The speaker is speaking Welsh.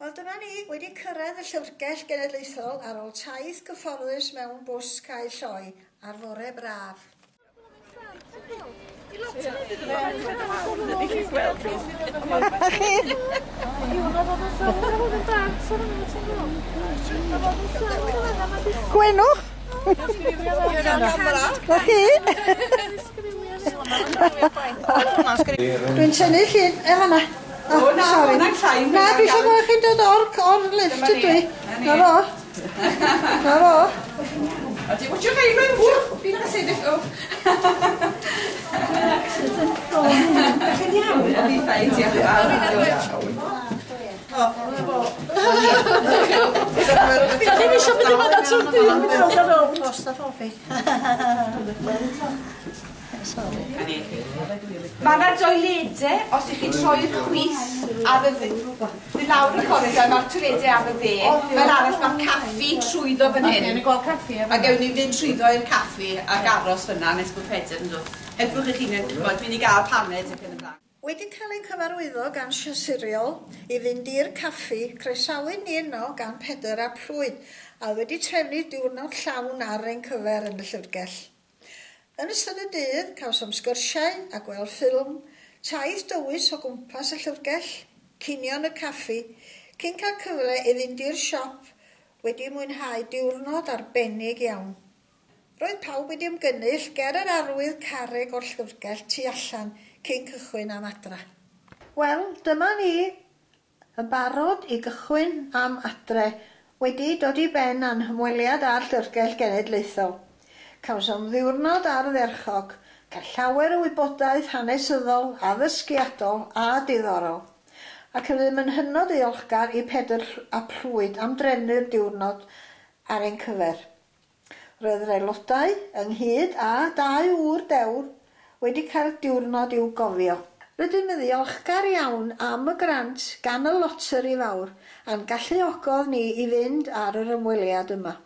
Wel, dyma ni wedi cyrraedd y Llyfrgell Genedlaethol ar ôl taith gyfforddus mewn bws cae lloi ar fore braf. Gwenwch! Na chi? Dwi'n tynnu llun, e fanna. O, na, sori. Na, dwi eisiau gweld chi'n dod o'r, or lift ydw i. Na fo. Na fo. Ydy, what's your favourite? Fi'n cael sefyll, o. Accident prone. Chi'n iawn? Fi'n fine, diolch yn fawr. Da ni'm isio mynd i fan'na trw'r dydd, mynd rownd a rownd. Claustrophobic. Sorry. Mae yna doiledau, os ych chi'n troi i'r chwith ar y dde, fynd lawr y corridor, mae'r toiledau ar y dde. Fel arall mae'r caffi trwyddo fan hyn. O'n i'n gweld caffi A gewn ni fynd trwyddo i'r caffi ac aros fyna nes bod Pedr yn dod. Helpwch eich hunain, ch'mod, mynd i gael paned ac yn y blaen. Wedi cael ein cyfarwyddo gan Siriol i fynd i'r caffi, croesawyd ni yno gan Pedr ap Llwyd, a oedd wedi trefnu diwrnod llawn ar ein cyfer yn y llyfrgell. Yn ystod y dydd, cawsom sgyrsiau a gweld ffilm, taith dywys o gwmpas y llyfrgell, cinio yn y caffi, cyn cael cyfle i fynd i'r siop wedi mwynhau diwrnod arbennig iawn. Roedd pawb wedi ymgynnull ger yr arwydd carreg o'r llyfrgell tu allan cyn cychwyn am adra. Wel, dyma ni yn barod i gychwyn am adre, wedi dod i ben a'n hymweliad â'r Llyfrgell Genedlaethol. Cawsom ddiwrnod ardderchog, cael llawer o wybodaeth hanesyddol, addysgiadol a diddorol. Ac rydym yn hynod ddiolchgar i Pedr ap Llwyd am drefnu'r diwrnod ar ein cyfer. Roedd yr aelodau, ynghyd â dau ŵr dewr, wedi cael diwrnod i'w gofio. Rydym yn ddiolchgar iawn am y grant gan y Loteri Fawr a'n galluogodd ni i fynd ar yr ymweliad yma.